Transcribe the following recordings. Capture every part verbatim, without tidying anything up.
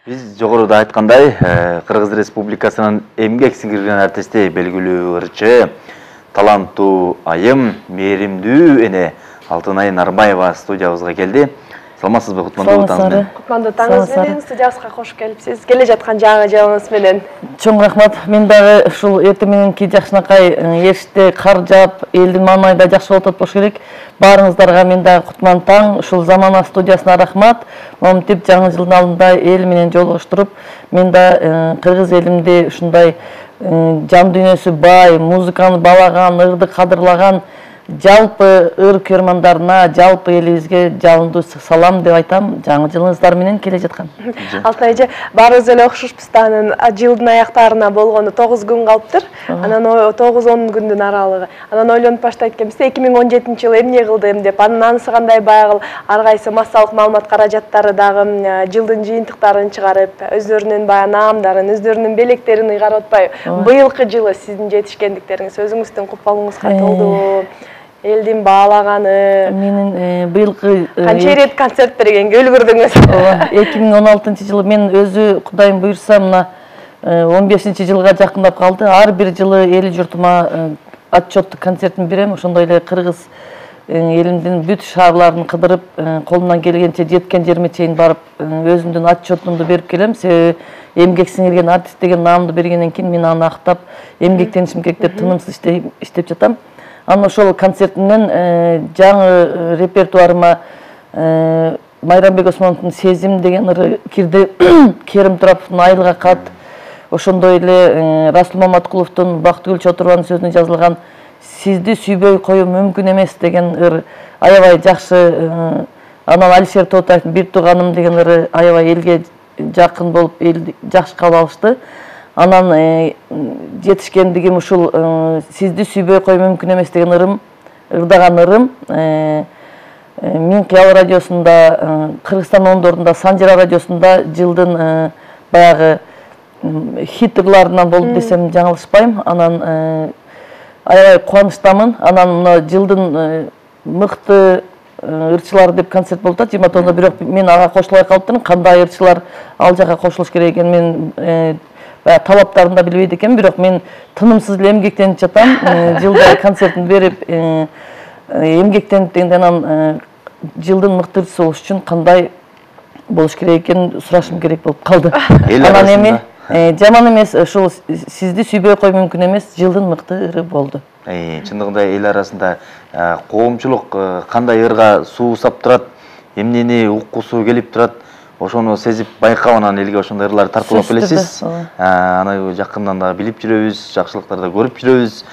Биз жогоруда айткандай, Кыргыз Республикасынын эмгек сиңирген артисти, белгилүү ырчы, таланттуу айым, мээримдүү эне Алтынай Нарбаева студиябызга келди. Саламатсызбы, кутмандуу таңыз менен? Кутмандуу таңыз менен студиябызга кош келипсиз. Келе жаткан жаңы жылыңыз менен. Чоң рахмат. Мен дагы ушул эртең мененки жакшынакай эшикте кар жаап, элдин маңайында жакшы болуп атпаш керек. Баарыңыздарга мен дагы кутман таң, ушул Замана студиясына рахмат. Момтип жаңы жылдын алдында эл менен жолугуштуруп, мен да кыргыз элимди ушундай жан дүйнөсү бай, музыканы баалаган, ырды кадырлаган жалпы ыр көрмандарына, жалпы элибизге жалындуу салам деп айтам. Жаңы жылыңыздар менен келе жаткан. Алтынай эже, баарыбыз эле окшошпуз да, анын жылдын аяктарына болгону тогуз күн калыптыр. Анан тогуз он күндүн аралыгы. Анан ойлонуп баштайт экенбиз, эки миң он жетинчи жылы эмне кылдым деп. Анын анысы кандай байгыл, ар кайсы массалык маалымат каражаттары дагы жылдын жыйынтыктарын чыгарып, өздөрүнүн баягы наамдарын, өздөрүнүн белектерин ыйгарып атпайбы. Быйылкы жылы сиздин жетишкендиктериңиз, өзүңүздүн купалыңызга толдуу. Элдин баалаганы. Менин быйылкы канча ирет концерт бергенге үлгүрдүңүз? эки миң он алтынчы жылы мен өзү Кудайым буйрса мына он бешинчи жылга жакындап калды. Ар бир жылы эл журтума отчеттук концертин берем. Ошондой эле кыргыз элимдин бүт шаарларын кыдырып, колумдан келгенче жеткен жериме чейин барып, өзүмдүн отчетумду берип келем. Себеби эмгек сиңирген артист деген наамды бергенден кийин мен аны актап, эмгектенишим керек деп тынымсыз иштеп жатам. Анан ошол концертимден жаңы репертуарыма Майрамбек Осмоновдун Сезим деген ыры кирди, Керим Тураповдун Айылга кат, ошондой эле Расул Маматкуловдун Бактыгүл Чотурованын сөзүнө жазылган Сизди сүйбөй коюу мүмкүн эмес деген ыр аябай жакшы. Анан Алишер Тоотаевдин Бир тууганым деген ыры аябай элге жакын болуп, элди жакшы кабыл алышты. Анан жетишкендигим ушул Сизди сүйбөй коюу мүмкүн эмес деген ырым, ырдаган ырым Мин Кыял радиосунда, Кыргызстан ондорунда, Санжара радиосунда жылдын баягы хит ырларынан болду десем жаңылышпайм. Анан аябай кубанычтамын. Анан мына жылдын мыкты ырчылар деп концерт болуп атат жыйырма тогузунда, бирок мен ага кошулбай калыптырмын. Кандай ырчылар ал жака кошулуш керек экен мен талаптарын да билбейт экен, бирок мен тынымсыз эле эмгектенип жатам. Жылда концертин берип, эмгектенип дегенде анан жылдын мыкты ырчысы болуш үчүн кандай болуш керек экенин сурашым керек болуп калды. Анан эми жаман эмес, ушул Сизди сүйбөй коюу мүмкүн эмес жылдын мыкты ыры болду. Чындыгында эл арасында коомчулук кандай ырга суусап турат, эмнени уккусу келип турат, ошону сезип байкап анан элге ошондой ырларды тартуулап келесиз. Аны жакындан да билип жүрөбүз, жакшылыктарды да көрүп жүрөбүз.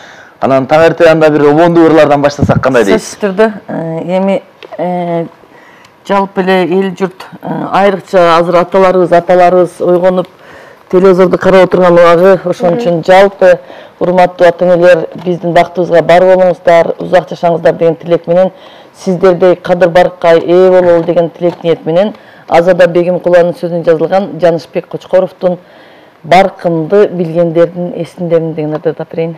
Анан таң эртең анда бир обондуу ырлардан баштасак кандай дейсиз? Сөзсүз түрдө эми жалпы эле эл журт, айрыкча азыр аталарыбыз, апаларыбыз ойгонуп телевизорду карап отурган убагы, ошон үчүн жалпы урматтуу ата энелер, биздин бактыбызга бар болуңуздар, узак жашаңыздар деген тилек менен, сиздердей кадыр баркка ээ бололу деген тилек ниет менен Азада Бегимкуланын сөзүнө жазылган Жанышбек Кочкоровдун Баркымды билгендердин эсиндемин деген ырды тап берейин.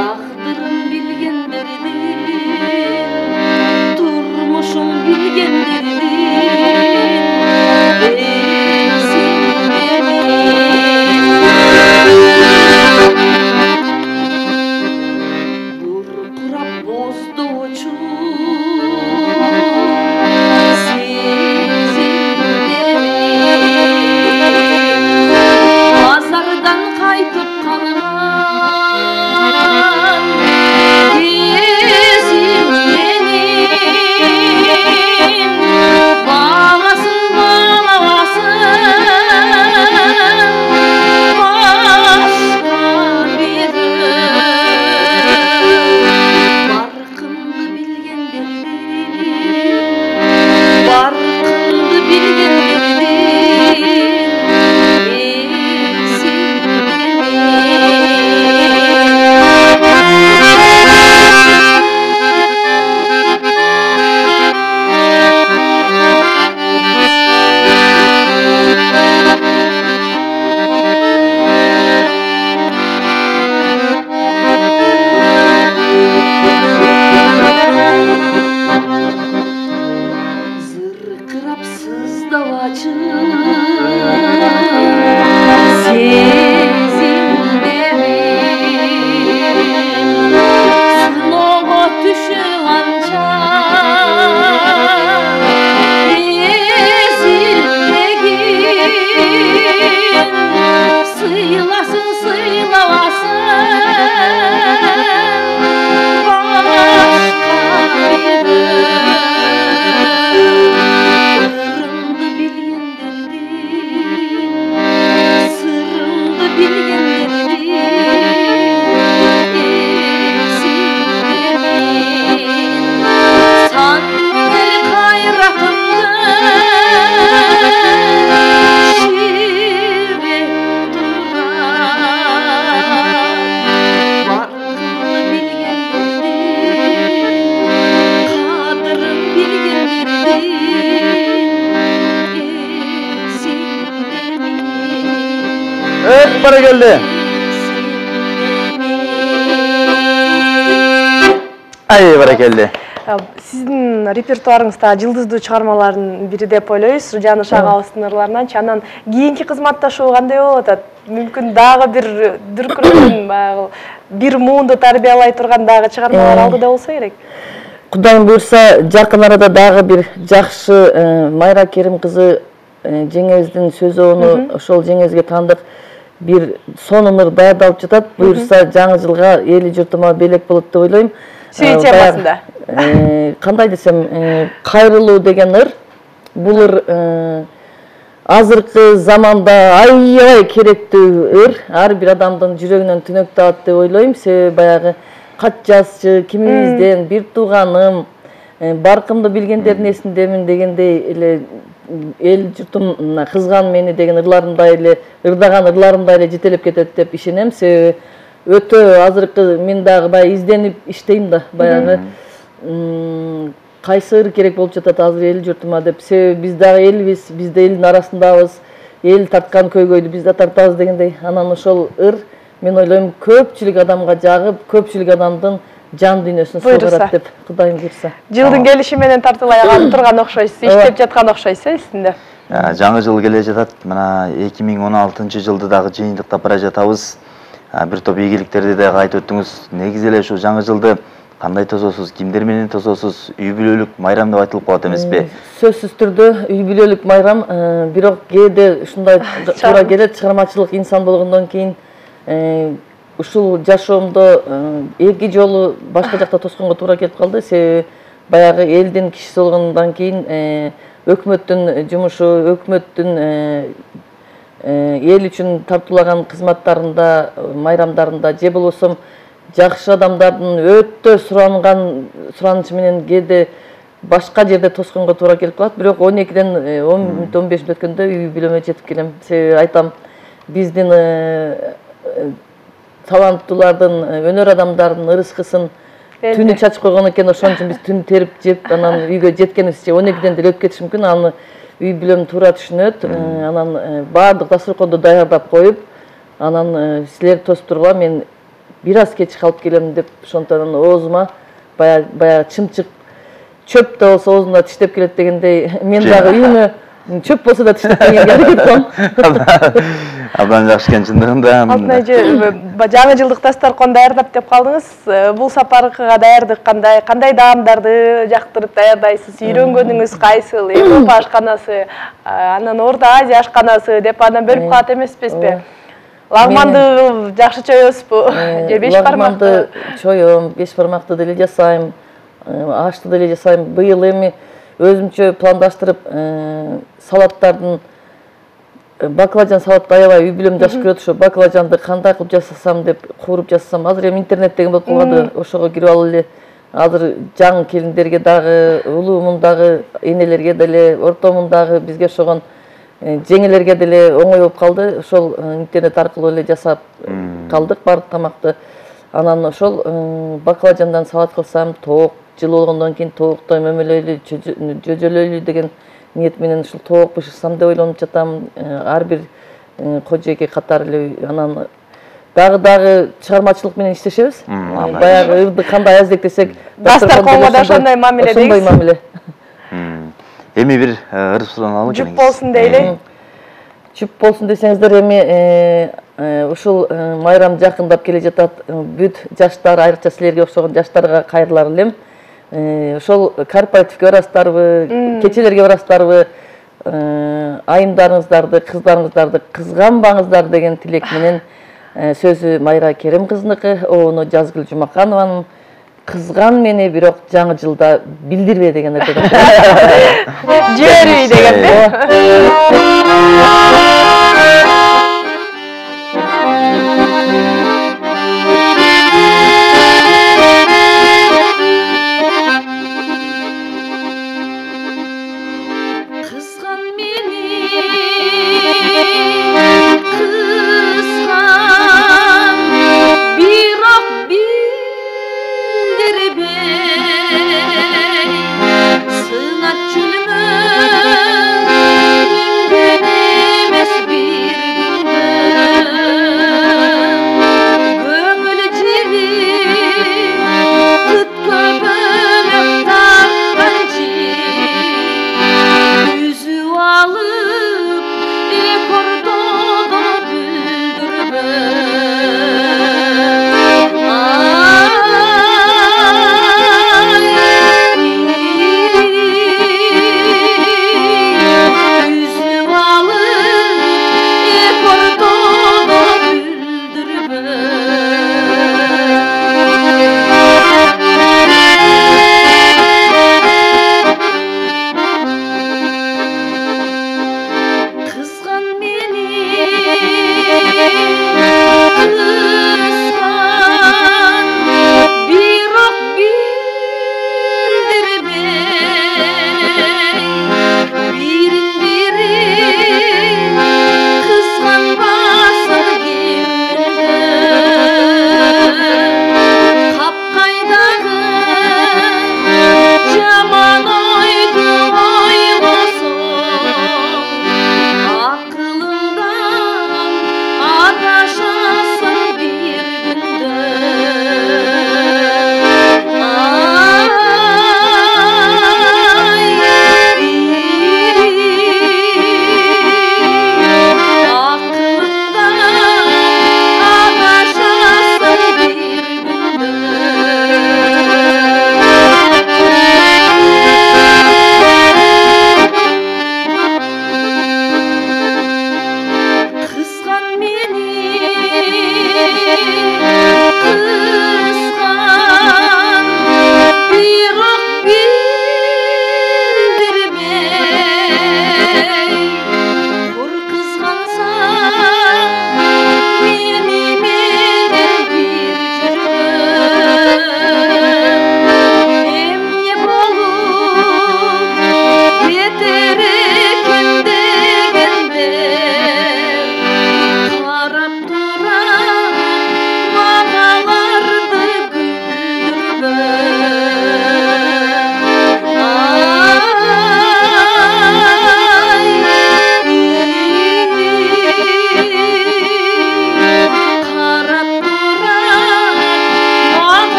Taqdirim bilgenlerdi баракелде. Ай, баракелде. Сиздин репертуарыңызда жылдыздуу чыгармалардын бири деп ойлойбуз. Жаныш агабыздын ырларынан. Анан кийинки кызматташуу кандай болуп атат? Мүмкүн дагы бир дүркүрөткөн баягы бир муунду тарбиялай турган дагы чыгармалар алдыда болсо керек. Кудайым буйрса, жакын арада дагы бир жакшы Майра Керим кызы жеңебиздин сөзүнү ошол жеңебизге таандык бир сонун ыр даярдалып жатат. Буйрса жаңы жылга эли журтума белек болот деп ойлойм. Сүй темасында. Кандай десем, кайрылуу деген ыр. Бул ыр азыркы заманда аябай керектүү ыр. Ар бир адамдын жүрөгүнөн түнөк табат деп ойлойм. Себеби баягы кат жазчы, кимибизден бир тууганым, баркымды билгендердин эсиндемин дегендей эле эл журтум кызган мени деген ырларымдай эле, ырдаган ырларымдай эле жетелеп кетет деп ишенем. Себеби өтө азыркы мен дагы баягы изденип иштейм да, баягы кайсы ыр керек болуп жатат азыр эл журтума деп. Себеби биз дагы элбиз, биз да элдин арасындабыз, эл тарткан көйгөйдү биз да тартабыз дегендей. Анан ошол ыр мен ойлойм көпчүлүк адамга жагып, көпчүлүк адамдын жан дүйнөсүн сыйгарат деп Кудайым буйрса. Жылдын келиши менен тартылай калып турган окшойсуз, иштеп жаткан окшойсуз сизде. Жаңы жыл келе жатат. Мына эки миң он алтынчы жылды дагы жыйынтыктап бара жатабыз. Бир топ ийгиликтерди да айтып өттүңүз. Негизи эле ушул жаңы жылды кандай тососуз, кимдер менен тососуз? Үй бүлөлүк майрам деп айтылып калат эмеспи? Сөзсүз түрдө үй бүлөлүк майрам, бирок кээде ушундай туура келет, чыгармачылык инсан болгондон кийин ушул жашоомдо эки жолу башка жакта тосконго туура келип калды. Себеби баягы элдин кишиси болгондон кийин өкмөттүн жумушу, өкмөттүн эл үчүн тартуулаган кызматтарында, майрамдарында же болбосо жакшы адамдардын өтө суранган суранычы менен кээде башка жерде тосконго туура келип калат. Бирок он экиден он мүнөт он беш мүнөт өткөндө үй бүлөмө жетип келем. Себеби айтам, биздин таланттуулардын, өнөр адамдардын ырыскысын түнү чачып койгон экен, ошон үчүн биз түн терип жеп, анан үйгө жеткенибизче он экиден деле өтүп кетиши мүмкүн. Аны үй бүлөм туура түшүнөт. Анан баардык дасторконду даярдап коюп, анан силер тосуп тургула, мен бир аз кеч калып келем деп, ошондон оозума баягы баягы чымчык чөп да болсо оозумда тиштеп келет дегендей, мен дагы үйүмө чөп болсо да тиштеп келгенге аракет кылам. Абдан жакшы экен чындыгында. Алтын эже, жаңы жылдык дасторкон даярдап деп калдыңыз. Бул сапарга даярдык кандай? Кандай даамдарды жактырып даярдайсыз? Үйрөнгөнүңүз кайсыл? Европа ашканасы, анан Орто Азия ашканасы деп анан бөлүп калат эмеспизби? Лагманды жакшы чоёсузбу? Же беш бармакты? Лагманды чоём, беш бармакты деле жасайм, ашты деле жасайм. Быйыл эми өзүмчө пландаштырып салаттардын, баклажан салат аябай үй бүлөм жакшы көрөт. Ошо баклажанды кандай кылып жасасам деп кууруп жасасам, азыр эми интернет деген болуп калды, ошого кирип алып эле азыр жаңы келиндерге дагы, улуумундагы энелерге деле, ортомундагы бизге ошогон жеңелерге деле оңой болуп калды. Ошол интернет аркылуу эле жасап калдык баардык тамакты. Анан ошол баклажандан салат кылсам, тоок жыл болгондон кийин тооктой мөмөлөйлүү, жөжөлөйлүү деген ниет менен ушул тоок бышырсам деп ойлонуп жатам. Ар бир кожоеке катары эле. Анан дагы дагы чыгармачылык менен иштешебиз. Баягы ырды кандай аздектесек, дасторконго да ошондой мамиле дейсиз. Ошондой мамиле. Эми бир ыр сураналы келиңиз. Жүп болсун дейли. Жүп болсун десеңиздер, эми ушул майрам жакындап келе жатат. Бүт жаштар, айрыкча силерге окшогон жаштарга кайрылар элем. Ошол корпоративге барасыздарбы, кечелерге барасыздарбы, айымдарыңыздарды, кыздарыңыздарды кызганбаңыздар деген тилек менен сөзү Майра Керим кызыныкы, ону Жазгүл Жумаканованын. Кызган мени, бирок жаңы жылда билдирбе деген ырды. Жибербей деген. Sınat çölümün,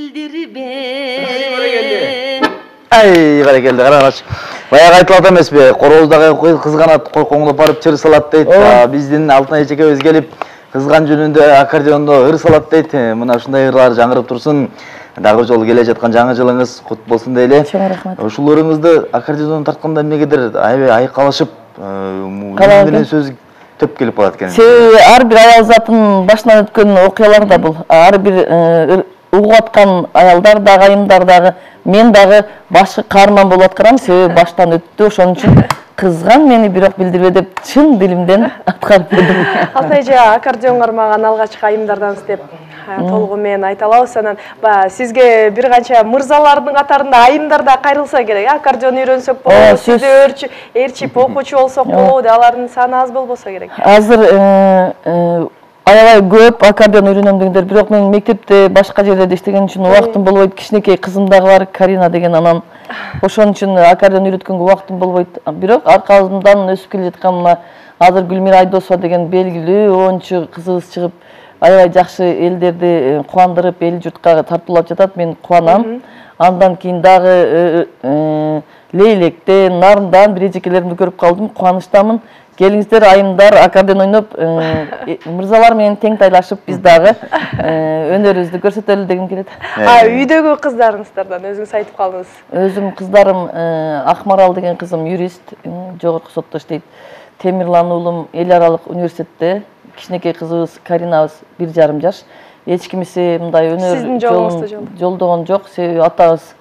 билдирбе. Ай, баракелде, караңыз. Баягы айтылат эмеспи, корооздагы кызганат койкоңдоп барып чыр салат дейт. Биздин Алтынай эжекебиз келип кызган жөнүндө аккордеондо ыр салат дейт. Мына ушундай ырлар жаңырып турсун. Дагы жолу келе жаткан жаңы жылыңыз кут болсун дейли. Чоң рахмат. Ушул ырыңызды аккордеондон тартканда эмнегедир аябай айкалышып, менен сөз төп келип калат экен. Себеби ар бир аял затын башынан өткөн окуялар да бул. Ар бир угуп аткан аялдар дагы, айымдар дагы, мен дагы башкы каарман болуп аткарам, себеби баштан өттү. Ошон үчүн кызган мени бирок билдирбе деп чын дилимден аткарып бердим. Алтынай эже, аккордеон кармаган алгачкы айымдардан деп толугу менен айта алабыз. Анан сизге бир канча мырзалардын катарында айымдар да кайрылса керек. Аккордеон үйрөнсөк болобу, сизде ээрчип окуучу болсок болобу деп, алардын саны аз болбосо керек. Азыр аябай көп аккордеон үйрөнөм дегендер, бирок мен мектепте башка жерлерде иштеген үчүн убактым болбойт. Кичинекей кызым дагы бар, Карина деген, анан ошон үчүн аккордеон үйрөткөнгө убактым болбойт. Бирок аркабыздан өсүп келе жаткан мына азыр Гүлмира Айдосова деген белгилүү оончу кызыбыз чыгып, аябай жакшы элдерди кубандырып, эл журтка тартуулап жатат. Мен кубанам. Андан кийин дагы Лейлектен, Нарындан бир эжекелеримди көрүп калдым. Кубанычтамын. Келиңиздер, айымдар, аккордеон ойноп, мырзалар менен тең тайлашып, биз дагы өнөрүбүздү көрсөтөлү дегим келет. Үйдөгү кыздарыңыздардан өзүңүз айтып калдыңыз. Өзүм кыздарым, Акмарал деген кызым юрист, жогорку сотто иштейт. Темирлан уулум эл аралык университетте, кичинекей кызыбыз Каринабыз бир жарым жаш. Эч кимиси мындай өнөр жолун жолдогон жок, себеби атабыз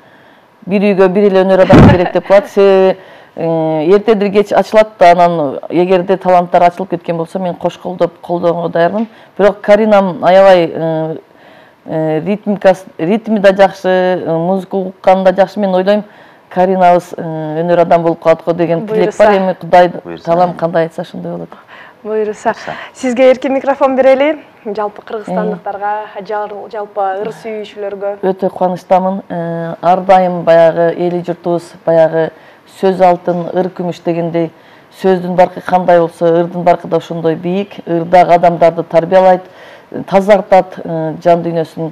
бир үйгө бир эле өнөр адам керек деп коет. Себеби эртедир кеч ачылат да, анан эгерде таланттар ачылып кеткен болсо мен кош колдоп колдоого даярмын. Бирок Каринам аябай ритмикасы, ритми да жакшы, музыка укканы да жакшы. Мен ойлойм, Каринабыз өнөр адам болуп калат го деген тилек бар. Эми Кудай таалам кандай айтса ошондой болот. Буйруса. Сизге эркин микрофон берели. Жалпы кыргызстандыктарга, жалпы ыр сүйүүчүлөргө. Өтө кубанычтамын. Ар дайым баягы эли журтубуз, баягы сөз алтын, ыр күмүш дегендей, сөздүн баркы кандай болсо, ырдын баркы да ошондой бийик. Ырдагы адамдарды тарбиялайт, тазартат жан дүйнөсүн.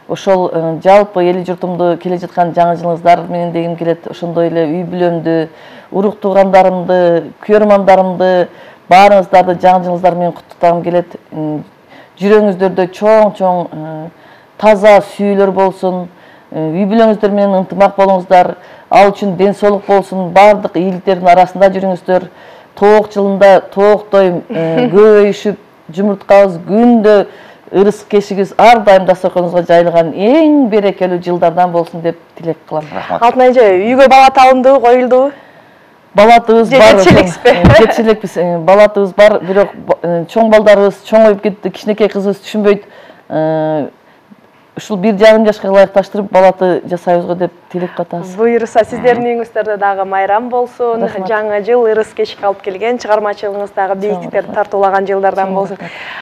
Ошол жалпы эли журтумду келе жаткан жаңы жылыңыздар менен дегим келет. Ошондой эле үй бүлөмдү, урук туугандарымды, күйөрмандарымды, баарыңыздарды жаңы жылыңыздар менен куттуктагым келет. Жүрөгүңүздөрдө чоң-чоң таза сүйүүлөр болсун. Үй бүлөңүздөр менен ынтымак болуңуздар. Ал үчүн ден соолук болсун. Бардык ийгиликтердин арасында жүрүңүздөр. Тоок жылында тооктой көбөйүшүп, жумурткабыз күндө ырыс кешигибиз ар дайым дасторконуңузга жайылган эң берекелүү жылдардан болсун деп тилек кылам. Алтынай эже, үйгө бала табындыбы, коюлдубу? Балатыбыз бар. Жетекчилекпи? Балатыбыз бар, бирок чоң балдарыбыз чоңоюп кетти, кичинекей кызыбыз түшүнбөйт. Ушул бир жарым жашка ылайыкташтырып балаты жасайбызго деп тилек катабыз. Буйруса, сиздердин үйүңүздөрдө дагы майрам болсун. Жаңы жыл ырыс кечик алып келген, чыгармачылыгыңыз дагы бийиктиктерди тартуулаган жылдардан болсун.